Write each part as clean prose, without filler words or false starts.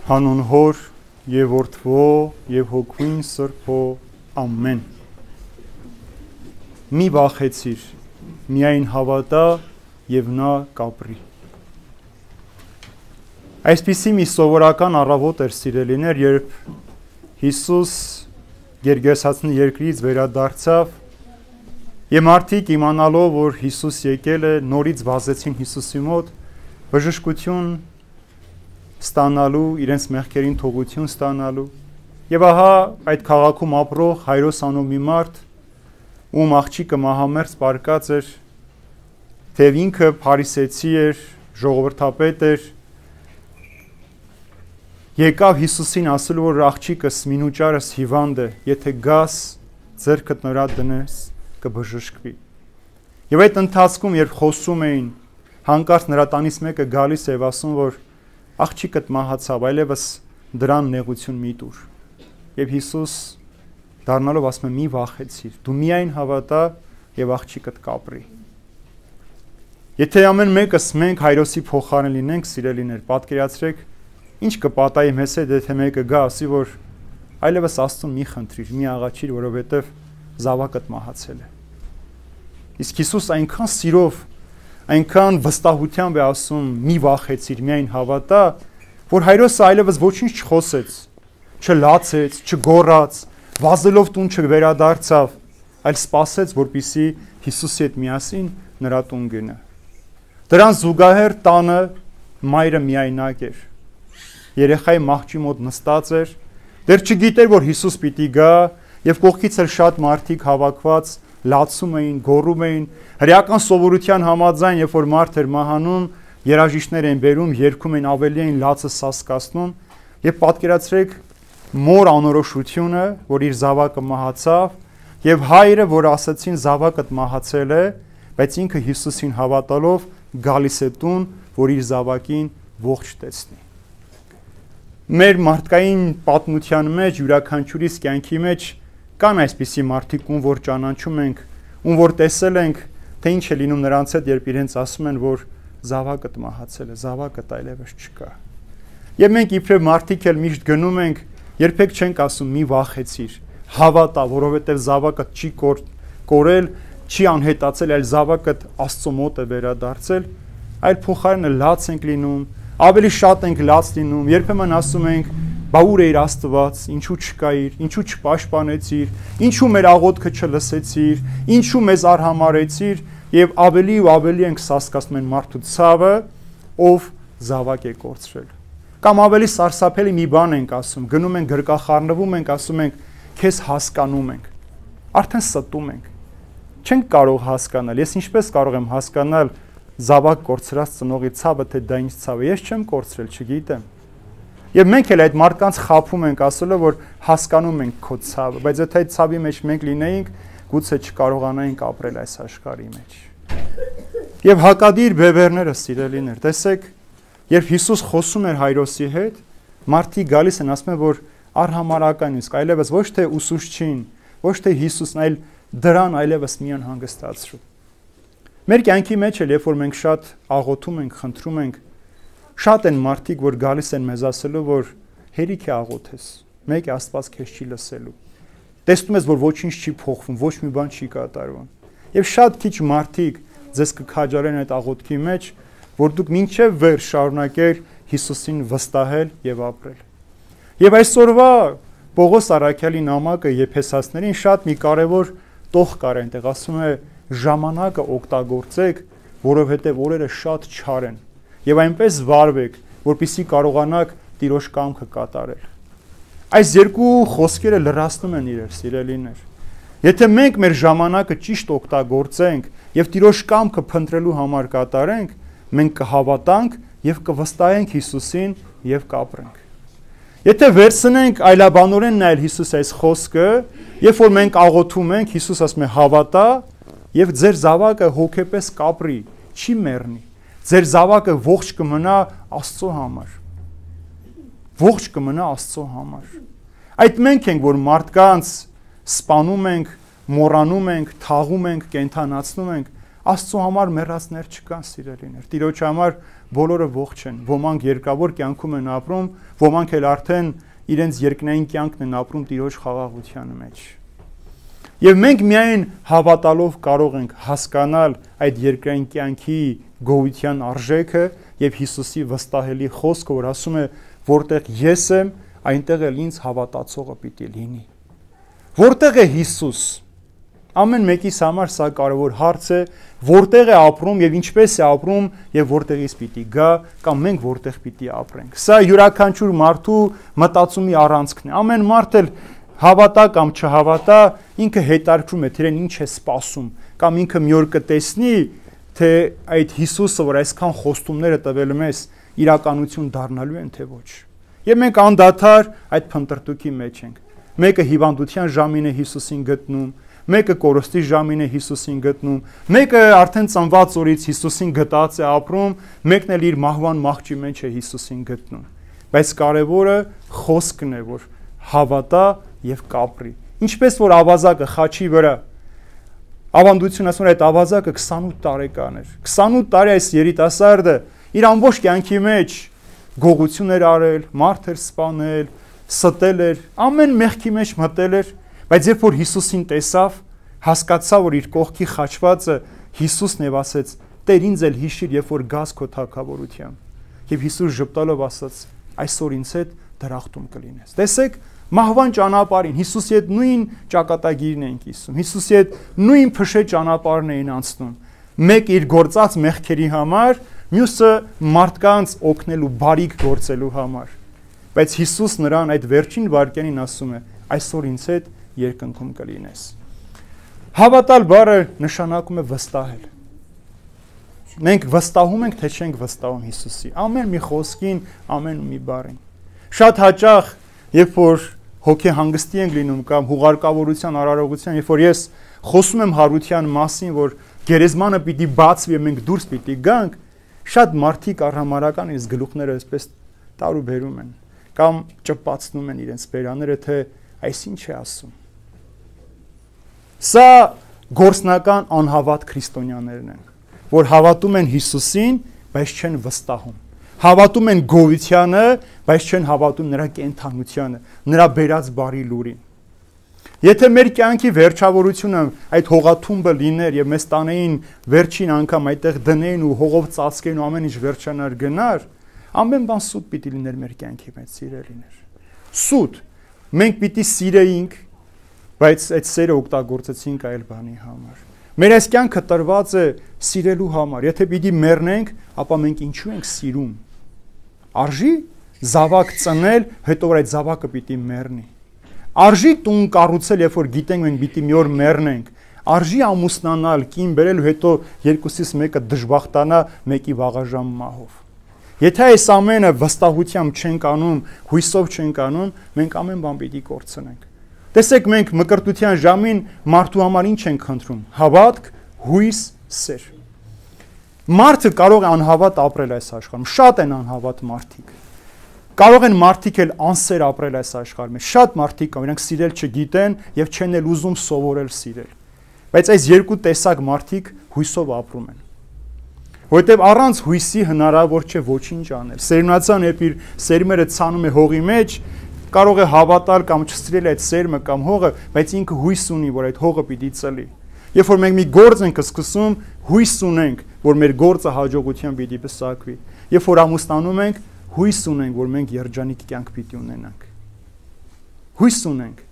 Հանուն Հոր եւ Որդվո եւ Հոգին Սրբո ամեն։ Մի վախեցիր, միայն հավատա եւ նա կապրի։ Այսպիսի մի սովորական առավոտ էր, սիրելիներ, երբ Հիսուս Գերգեսացնի երկրից վերադարձավ եւ մարդիկ իմանալով, որ Հիսուս եկել է, նորից վազեցին Հիսուսի մոտ բժշկություն ստանալու, իրենց մեղքերին թողություն ստանալու։ Եվ ահա այդ քաղաքում ապրող Հայրոս անուն մի մարդ, ում աղջիկը մահամերձ պառկած էր, թեև ինքը փարիսեցի էր, ժողովրդապետ էր, եկավ Հիսուսին ասելու, որ աղջիկս մինուճարս հիվանդ է, եթե գաս, ձեռքդ նրա դնես, կբժշկվի։ Եվ այդ ընթացքում, երբ խոսում էին, հանկարծ նրա տանից մեկը գալիս է եւ ասում, որ աղջիկդ մահացավ, այլևս դրան նեղություն մի տուր։ Եվ Հիսուս դառնալով ասում է՝ մի վախեցիր, դու միայն հավատա եւ աղջիկդ կապրի։ Եթե ամեն մեկս մենք Հայրոսի փոխարեն լինենք, սիրելիներ, պատկերացրեք, ինչ կպատահի մեզ հետ, եթե մեկը գա ասի, որ այլևս Աստծուն մի խնդրիր, մի աղաչիր, որովհետեւ զավակդ մահացել է։ Իսկ Հիսուս այնքան սիրով, այնքան վստահությամբ է ասում՝ մի վախեցիր, միայն հավատա, որ Հայրոսը այլևս ոչինչ չխոսեց, չլացեց, չգոռաց, վազելով տուն չվերադարձավ, այլ սպասեց, որպեսզի Հիսուսի հետ միասին նրա տուն գնա։ Դրան զուգահեռ տանը մայրը միայնակ էր։ Երեխայի մահճի մոտ նստած էր, դեռ չգիտեր, որ Հիսուս պիտի գա, եւ կողքից էլ շատ մարդիկ հավաքված լացում էին, գոռում էին, հրեական սովորության համաձայն, երբ որ մարդ էր մահանում, երաժիշտներ էին բերում, երգում էին, ավելի էին լացը սասկացնում, եւ պատկերացրեք մոր անորոշությունը, որ իր զավակը մահացավ, եւ հայրը, որ ասացին զավակդ մահացել է, բայց ինքը Հիսուսին հավատալով գալիս է տուն, որ իր զավակին ողջ տեսնի։ Մեր մարդկային պատմության մեջ, յուրաքանչյուրիս կյանքի մեջ կան այսպիսի մարդիկ, ում որ ճանաչում ենք, ում որ տեսել ենք, թե ինչ է լինում նրանց հետ, երբ իրենց ասում են, որ զավակդ մահացել է, զավակդ այլևս չկա։ Եվ մենք իբրև մարդիկ էլ միշտ գնում ենք, երբեք չենք ասում՝ մի վախեցիր, հավատա, որովհետև զավակդ չի կորել, չի անհետացել, այլ զավակդ Աստծո մոտ է վերադարձել, այլ փոխարենը լաց ենք լինում, ավելի շատ ենք լաց լինում, երբեմն ասում ենք՝ բա ուր էիր Աստված, ինչու չկայիր, ինչու չպաշտպանեցիր, ինչու մեր աղոթքը չլսեցիր, ինչու մեզ արհամարեցիր, եւ ավելի ու ավելի ենք սասկացնում են մարդու ցավը, ով զավակ է կորցրել։ Կամ ավելի սարսափելի մի բան ենք ասում, գնում ենք գրկախառնվում ենք, ասում ենք քեզ հասկանում ենք, արդեն ստում ենք, չենք կարող հասկանալ, ես ինչպես կարող եմ հասկանալ զավակ կորցրած ծնողի ցավը, թե դա ինչ ցավ է, ես չեմ կորցրել, չգիտեմ։ Եվ մենք էլ այդ մարդկանց խաբում ենք, ասելով, որ հասկանում ենք քո ցավը, բայց եթե այդ ցավի մեջ մենք լինեինք, գուցե չկարողանայինք ապրել այս աշխարհի մեջ։ Եվ հակադիր բևեռները, սիրելիներ, տեսեք, երբ Հիսուս խոսում էր Հայրոսի հետ, մարդիկ գալիս են, ասում են, որ արհամարական իսկ այլևս ոչ թե ուսուցչին, ոչ թե Հիսուսն, այլ դրան այլևս մի անհանգստացրու։ Մեր կյանքի մեջ էլ, երբ որ մենք շատ աղոթում ենք, խնդրում ենք, շատ են մարդիկ, որ գալիս են մեզ ասելու, որ հերիք է աղոթես, մեկ է Աստված քեզ չի լսելու։ Տեսնում ես, որ ոչինչ չի փոխվում, ոչ մի բան չի կատարվում։ Եվ շատ քիչ մարդիկ ձեզ կքաջարեն այդ աղոթքի մեջ, որ դուք մինչև վեր շարունակեր Հիսուսին վստահել եւ ապրել։ Եվ այսօրվա Պողոս առաքյալի նամակը Եփեսացիներին շատ մի կարևոր տող կար այնտեղ, ասում է ժամանակը օգտագործեք, որովհետեւ օրերը շատ չար են։ Եվ այնպես վարվեք, որպեսզի կարողանաք Տիրոջ կամքը կատարել։ Այս երկու խոսքերը լրացնում են իրար, սիրելիներ։ Եթե մենք մեր ժամանակը ճիշտ օգտագործենք եւ Տիրոջ կամքը փնտրելու համար կատարենք, մենք կհավատանք եւ կվստահենք Հիսուսին եւ կապրենք։ Եթե վերցնենք այլաբանորեն նայել Հիսուս այս խոսքը, երբ որ մենք աղոթում ենք, Հիսուս ասում է հավատա եւ ձեր զավակը հոգեպես կապրի, չի մեռնի։ Ձեր զավակը ողջ կմնա Աստծո համար։ Ողջ կմնա Աստծո համար։ Այդ մենք ենք, որ մարդկանց սպանում ենք, մոռանում ենք, թաղում ենք, կենթանացնում ենք, Աստծո համար մեռածներ չկան, սիրելիներ։ Տիրոջ համար բոլորը ողջ են։ Ոմանք երկավոր կյանքում են ապրում, ոմանք էլ արդեն իրենց երկնային կյանքն են ապրում Տիրոջ խաղաղության մեջ։ Եվ մենք միայն հավատալով կարող ենք հասկանալ այդ երկրային կյանքի գոյության արժեքը եւ Հիսուսի վստահելի խոսքը, որ ասում է, որտեղ ես եմ, այնտեղ էլ ինձ հավատացողը պիտի լինի։ Որտեղ է Հիսուս։ Ամեն մեկիս համար սա կարևոր հարց է, որտեղ է ապրում եւ ինչպես է ապրում եւ որտեղից պիտի գա կամ մենք որտեղ պիտի ապրենք։ Սա յուրաքանչյուր մարդու մտածումի առանցքն է։ Ամեն մարդ էլ հավատա կամ չհավատա, ինքը հետաքրքրում է, թե իրեն ինչ է սպասում, կամ ինքը մի օր կտեսնի, թե այդ Հիսուսը, որ այսքան խոստումները տվել մեզ, իրականություն դառնալու են թե ոչ։ Եվ մենք անդադար այդ փնտրտուքի մեջ ենք։ Մեկը հիվանդության ժամին է Հիսուսին գտնում, մեկը կորստի ժամին է Հիսուսին գտնում, մեկը արդեն ծնված օրից Հիսուսին գտած է ապրում, մեկն էլ իր մահվան մահճի մեջ է Հիսուսին գտնում։ Բայց կարևորը խոսքն է, որ հավատա եւ կապրի։ Ինչպես որ ավազակը խաչի վրա, ավանդությունը ասում է, այդ ավազակը 28 տարեկան էր։ 28 տարի այս երիտասարդը իր ամբողջ կյանքի մեջ գողություն էր արել, մարդ էր սպանել, ստել էր, ամեն մեղքի մեջ մտել էր, բայց երբ որ Հիսուսին տեսավ, հասկացավ, որ իր կողքի խաչվածը Հիսուսն է, ասեց. «Տեր, ինձ էլ հիշիր, երբ որ գաս քո թագավորությամբ»։ Եվ Հիսուս ժպտալով ասաց. «Այսօր ինձ հետ դրախտում կլինես»։ Տեսեք, մահվան ճանապարհին Հիսուսի հետ նույն ճակատագիրն էին կիսում, Հիսուսի հետ նույն փշե ճանապարհն էին անցնում։ Մեկ իր գործած մեղքերի համար, մյուսը մարդկանց օգնելու, բարիք գործելու համար։ Բայց Հիսուս նրան այդ վերջին վայրկյանին ասում է. «Այսօր ինձ հետ երկնքում կլինես»։ Հավատալ բառը նշանակում է վստահել։ Մենք վստահում ենք, թե չենք վստահում Հիսուսի ամեն մի խոսքին, ամեն մի բառին։ Շատ հաճախ, երբ որ հոգեհանգստի ենք լինում կամ հուղարկավորության արարողության, երբ որ ես խոսում եմ հարության մասին, որ գերեզմանը պիտի բացվի եւ մենք դուրս պիտի գանք, շատ մարդիկ առհամարական իրենց գլուխները այսպես տարուբերում են կամ ճպացնում են իրենց բերաները, թե այս ինչ է ասում։ Սա գործնական անհավատ քրիստոնյաներն են, որ հավատում են Հիսուսին, բայց չեն վստահում։ Հավատում են գոյությանը, բայց չեն հավատում նրա կենթանությանը, նրա բերած բարի լուրին։ Եթե մեր կյանքի վերջավորությունը այդ հողաթումբը լիներ եւ մեզ տանեին վերջին անգամ այդտեղ դնեին ու հողով ծածկեին ու ամեն ինչ վերջանար գնար, ամեն բան սուտ պիտի լիներ մեր կյանքի մեջ, սիրելիներ։ Սուտ։ Մենք պիտի սիրեինք, բայց այդ սերը օգտագործեցինք այլ բանի համար։ Մեր այս կյանքը տրված է սիրելու համար։ Եթե պիտի մեռնենք, ապա մենք ինչու ենք սիրում։ Արժի զավակ ծնել, հետո որ այդ զավակը պիտի մեռնի։ Արժի տուն կառուցել, երբ որ գիտենք մենք պիտի մի օր մեռնենք։ Արժի ամուսնանալ, կին բերել ու հետո երկուսից մեկը դժբախտանա մեկի վաղաժամ մահով։ Եթե այս ամենը վստահությամբ չենք անում, հույսով չենք անում, մենք ամեն բան պիտի կորցնենք։ Տեսեք, մենք մկրտության ժամին մարդու համար ինչ ենք խնդրում։ Հավատք, հույս, սեր։ Մարդը կարող է անհավատ ապրել այս աշխարհում, շատ են անհավատ մարդիկ։ Կարող են մարդիկ էլ անսեր ապրել այս աշխարհում։ Շատ մարդիկ կան, իրենք սիրել չգիտեն եւ չեն էլ ուզում սովորել սիրել։ Բայց այս երկու տեսակ մարդիկ հույսով ապրում են։ Որտեւ առանց հույսի հնարավոր չէ ոչինչ անել։ Սերմնացան երբ իր սերմերը ցանում է հողի մեջ, կարող է հավատալ կամ չսիրել այդ սերմը կամ հողը, բայց ինքը հույս ունի, որ այդ հողը պիտի ծլի։ Երբ որ մենք մի գործ ենք սկսում, հույս ունենք, որ մեր գործը հաջողությամբ պիտի պսակվի։ Երբ որ ամուսնանում ենք, հույս ունենք, որ մենք երջանիկ կյանք պիտի ունենանք։ Հույս ունենք։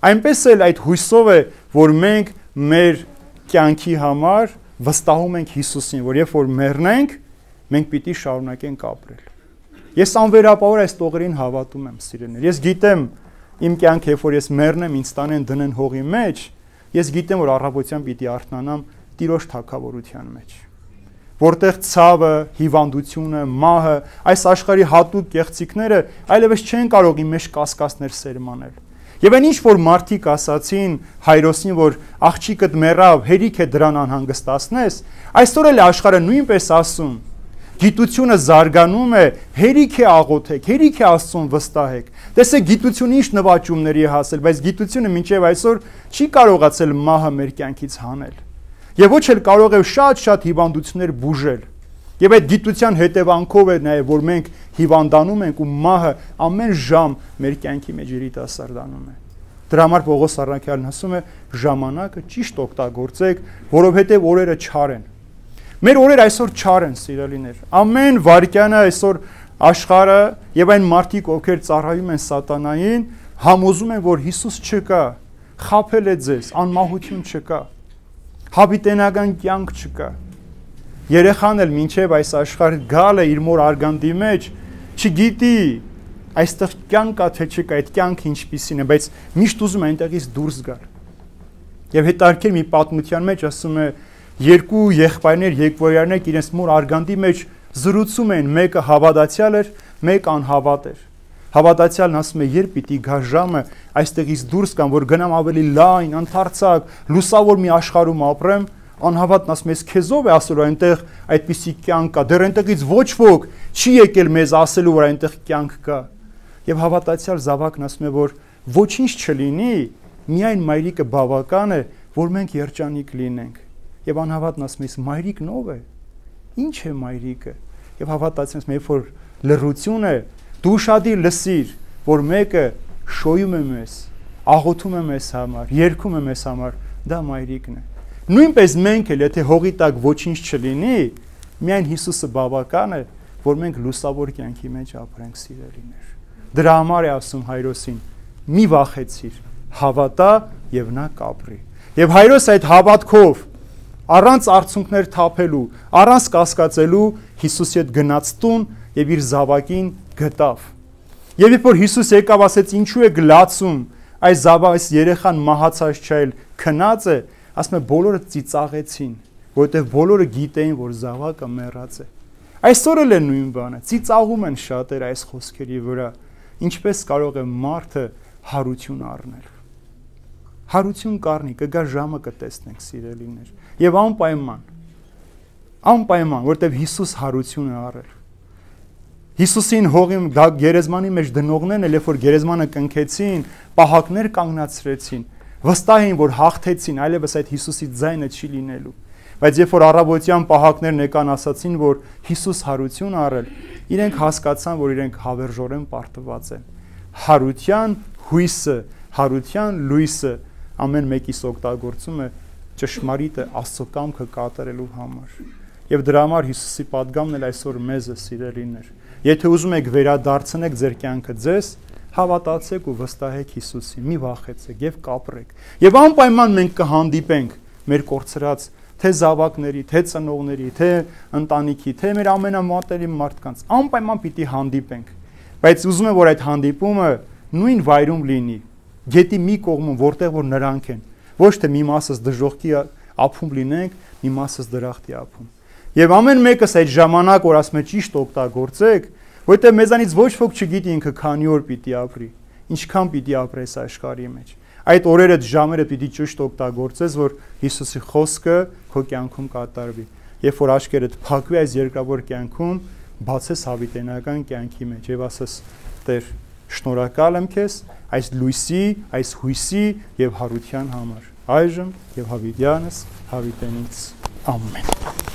Այնպես էլ այդ հույսով է, որ մենք մեր կյանքի համար վստահում ենք Հիսուսին, որ երբ որ մեռնենք, մենք պիտի շարունակենք ապրել։ Ես անվերապահորեն այս տողերին հավատում եմ, սիրելիներ։ Ես գիտեմ իմ կյանքը, երբ որ ես մեռնեմ, ինձ տանեն դնեն հողի մեջ, ես գիտեմ, որ առավոտյան պիտի արթնանամ Տիրոջ թագավորության մեջ, որտեղ ցավը, հիվանդությունը, մահը, այս աշխարհի հատուկ կեղծիքները այլևս չեն կարող իմ մեջ կասկածներ սերմանել։ Եվ այն ինչ որ մարդիկ ասացին Հայրոսին, որ աղջիկդ մեռավ, հերիք է դրան անհանգստացնես, այսօր էլ աշխարհը նույնպես ասում։ Գիտությունը զարգանում է, հերիք է աղոթեք, հերիք է Աստծուն վստահեք։ Տեսեք, գիտությունը ինչ նվաճումների է հասել, բայց գիտությունը մինչև այսօր չի կարողացել մահը մեր կյանքից հանել։ Եվ ոչ էլ կարող է շատ հիվանդություններ բուժել։ Եվ այդ գիտության հետևանքով է նաև որ մենք հիվանդանում ենք ու մահը ամեն ժամ մեր կյանքի մեջ երիտասարդանում է։ Դրա համար Պողոս առաքյալն ասում է ժամանակը ճիշտ օգտագործեք, որովհետև օրերը չար են։ Մեր օրերը այսօր չար են, սիրելիներ։ Ամեն վայրկյանը այսօր աշխարհը եւ այն մարդիկ, ովքեր ծառայում են սատանային, համոզում են, որ Հիսուս չկա, խաբել է ձեզ, անմահություն չկա, հավիտենական կյանք չկա։ Երեխան էլ մինչև այս աշխարհ գալը իր մոր արգանդի մեջ չգիտի այստեղ կյանք կա թե չկա, այդ կյանքը ինչպիսին է, բայց միշտ ուզում է այնտեղից դուրս գալ։ Եվ հետարքեր մի պատմության մեջ ասում է երկու եղբայրներ, եկվորյարներ իրենց մոր արգանդի մեջ զրուցում են, մեկը հավատացյալ էր, մեկը անհավատ էր։ Հավատացյալն ասում է, երբ պիտի գա ժամը այստեղից դուրս գամ, որ գնամ ավելի լայն, ընդարձակ, լուսավոր մի աշխարհում ապրեմ, անհավատն ասում է, քեզով է ասելու այնտեղ այդպիսի կյանք կա, դեռ այնտեղից ոչ ոք չի եկել մեզ ասելու, որ այնտեղ կյանք կա։ Եվ հավատացյալ զավակն ասում է, որ ոչինչ չլինի, միայն մայրիկը բավական է, որ մենք երջանիկ լինենք։ Եվ անհավատն ասում է, մայրիկն ով է։ Ինչ է մայրիկը։ Եվ հավատացյալն ասում է, երբ որ լռություն է, դու ուշադիր լսիր, որ մեկը շոյում է մեզ, աղոթում է մեզ համար, երգում է մեզ համար, դա մայրիկն է։ Նույնպես մենք էլ, եթե հողի տակ ոչինչ չլինի, միայն Հիսուսը բավական է, որ մենք լուսավոր կյանքի մեջ ապրենք, սիրելիներ։ Դրա համար է ասում Հայրոսին, մի վախեցիր, հավատա եւ նա կապրի։ Եվ Հայրոս այդ հավատքով առանց արցունքներ թափելու, առանց կասկածելու Հիսուսի հետ գնաց տուն եւ իր զավակին գտավ։ Եվ երբ որ Հիսուս եկավ, ասեց, ինչու է գլացում, այս երեխան մահացած չէ, քնած է, ասում է բոլորը ծիծաղեցին, որովհետև բոլորը գիտեին, որ զավակը մեռած է։ Այսօր էլ է նույն բանը, ծիծաղում են շատերը այս խոսքերի վրա, ինչպես կարող է մարդը հարություն առնել։ Հարություն կառնի, կգա ժամը կտեսնենք, սիրելիներ, եւ անպայման, որովհետև Հիսուս հարություն է առել։ Հիսուսին հողի գերեզմանի մեջ դնողներն էլ, երբ որ գերեզմանը կնքեցին, պահակներ կանգնացրեցին, վստահ էին, որ հաղթեցին, այլևս այդ Հիսուսի ձայնը չի լինելու։ Բայց երբ որ առավոտյան պահակներն եկան ասացին, որ Հիսուս հարություն առել, իրենք հասկացան, որ իրենք հավերժորեն պարտված են։ Հարության հույսը, հարության լույսը ամեն մեկիս օգտագործում է ճշմարիտը Աստծո կամքը կատարելու համար։ Եվ դրա համար Հիսուսի պատգամն էլ այսօր մեզ է, սիրելիներ։ Եթե ուզում եք վերադարձնեք ձեր կյանքը ձեզ, հավատացեք ու վստահեք Հիսուսին, մի վախեցեք եւ կապրեք։ Եվ անպայման մենք կհանդիպենք մեր կորցրած թե զավակների, թե ծնողների, թե ընտանիքի, թե մեր ամենամատերի մարդկանց, անպայման պիտի հանդիպենք։ Բայց ուզում եմ, որ այդ հանդիպումը նույն վայրում լինի, գետի մի կողմում, որտեղ որ նրանք են, ոչ թե մի մասս դժոխքի ափում լինենք, մի մասս դրախտի ափում։ Եվ ամեն մեկս այդ ժամանակ, որ ասում է ճիշտ օգտագործեք, որտեղ մեզանից ոչ ոք չգիտի ինքը քանի օր պիտի ապրի, ինչքան պիտի ապրես աշխարհի մեջ։ Այդ օրերը, ժամերը պիտի ճիշտ օգտագործես, որ Հիսուսի խոսքը քո կյանքում կատարվի։ Երբ որ աչքերդ փակվի այս երկրավոր կյանքում, բացես հավիտենական կյանքի մեջ եւ ասես. Տեր, շնորհակալ եմ քեզ այս լույսի, այս հույսի եւ հարության համար։ Այժմ եւ հավիտյանս հավիտենից։ Ամեն։